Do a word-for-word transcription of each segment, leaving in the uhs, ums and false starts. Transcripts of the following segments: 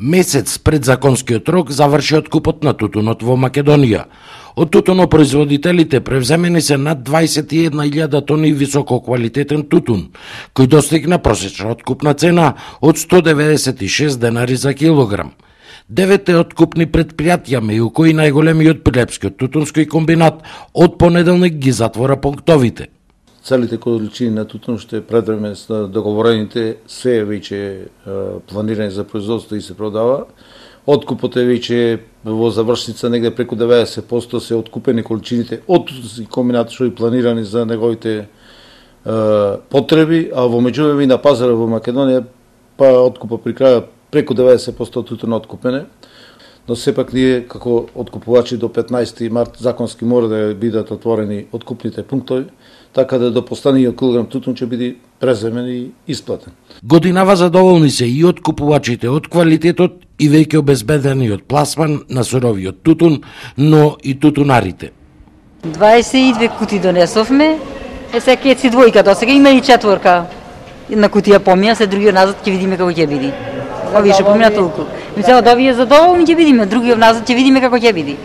Месец пред законскиот рок заврши откупот на тутунот во Македонија. Од тутунопроизводителите превземени се над дваесет и една илјада тони висококвалитетен тутун, кој достигна просечна откупна цена од сто деветдесет и шест денари за килограм. Девете откупни предпријатија, меѓу кои најголемиот Прилепскиот тутунски комбинат, од понеделник ги затвора пунктовите. Целите количини на тутун што е предвреме со договорените се веќе планирани за производство и се продава. Откупот е веќе во завршница, негде преку деветдесет проценти се откупени количините од тутунски комбинат што и планирани за неговите е, потреби, а во меѓувреме на пазара во Македонија па откупа при крај преку деветдесет проценти од тутун откупене. Но сепак ние како откупувачи до петнаесети март законски мора да бидат отворени откупните пунктови, така да до постаниот килограм тутун ќе биде преземен и исплатен. Годинава задоволни се и откупувачите од квалитетот и веќе обезбедениот пласман на суровиот тутун, но и тутунарите. дваесет и две кути донесовме, е сега ќе си двојка, до сега има и четворка. Една кутија помија, се другиот назад ќе видиме како ќе биде. Овие што помина толку. Мислам да овие задоволни ќе видиме, другиот назад ќе видиме како ќе биде.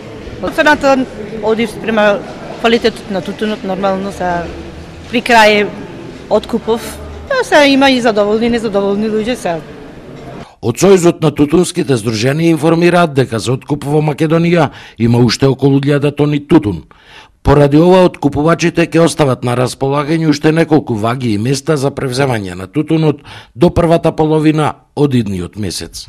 Цената оди спрема квалитетот на тутунот нормално са при крај откупов. Па се има и задоволни и незадоволни луѓе се. Од Сојузот на тутунските здруженија информираат дека за откуп во Македонија има уште околу илјада тони тутун. Поради ова откупувачите ќе остават на располагање уште неколку ваги и места за превземање на тутунот до првата половина од идниот месец.